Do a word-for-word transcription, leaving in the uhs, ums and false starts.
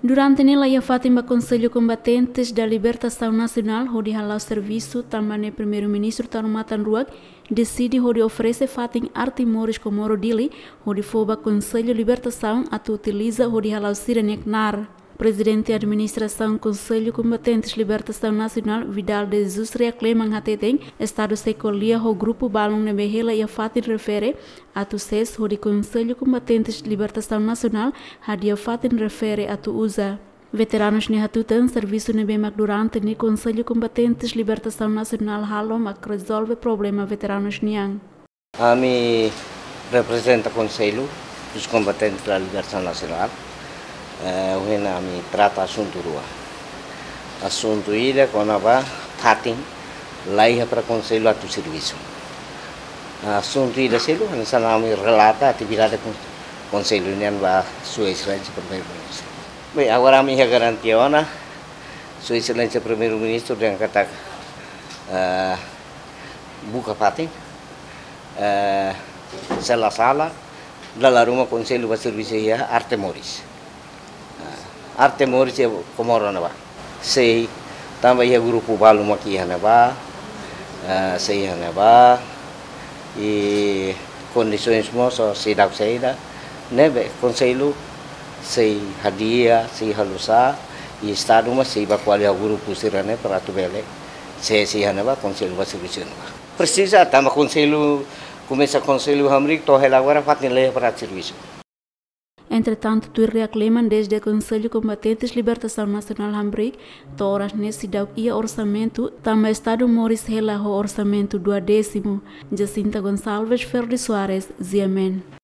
Durante ne'e laiha fatin ba Konsellu Kombatentes da Libertasaun Nasionál hodi hala'o servisu, tanba ne'e Primeiru-Ministru Tanu Matan Ruak deside hodi oferese fatin arte moris Komoro Dili hodi fó ba Konsellu Libertasaun atu utiliza hodi hala'o sira-nia knaar. Prezidente Administrasaun Konsellu Kombatentes Libertasaun Nasionál, Vidal de Jesus Reakleman, hateten Estadu sei ko'alia ho grupu balun ne'ebé hela iha fatin refere atu sees hodi Konsellu Kombatentes Libertasaun Nasionál hadi'a fatin refere atu uza. Veteranus nia hatutan, servisu ne'ebé mak durante ne'e Konsellu Kombatentes Libertasaun Nasionál halo mak rezolve problema veteranus nian. Ami reprezenta Konsellu dos Combatentes da Libertação Nacional. Eh, ohin ami trata asuntu rua. Asuntu ida kona-ba fatin laiha para Konsellu atu servisu. Asuntu ida seluk, hanesan ami relata atividade kon-, Konsellu nian ba Sua Exelénsia Primeiru-Ministru. Bem, agora ami iha garantia ona, Sua Exelénsia Primeiru-Ministru dehan katak, eh, buka fatin, eh, sala-sala, dala ruma Konsellu ba servisu iha arte moris. Ah, arte moris iha Komoro ne'ebá. Sei, tanba iha grupu balu mak iha ne'ebá, eh, sei iha ne'ebá, i kondisoens mós seidauk saida, ne'ebé Konsellu sei hadi'a, sei halo sá, i Estadu mós sei bá ko'alia ho grupu sira-ne'e para atu bele, sei, sei iha ne'ebá, Konsellu ba servisu ne'ebá. Presiza, tanba Konsellu, komesa Konsellu hamriik, to'o hela agora fatin laiha para servisu. Entretantu, tuir Reakleman, dezde Konsellu Kombatentes Libertasaun Nasionál hamriik to'o oras ne'e seidauk iha orsamentu, tanba Estadu moris hela ho orsamentu duodésimu. Jacinta Gonçalves, Ferdi Soares, G M N.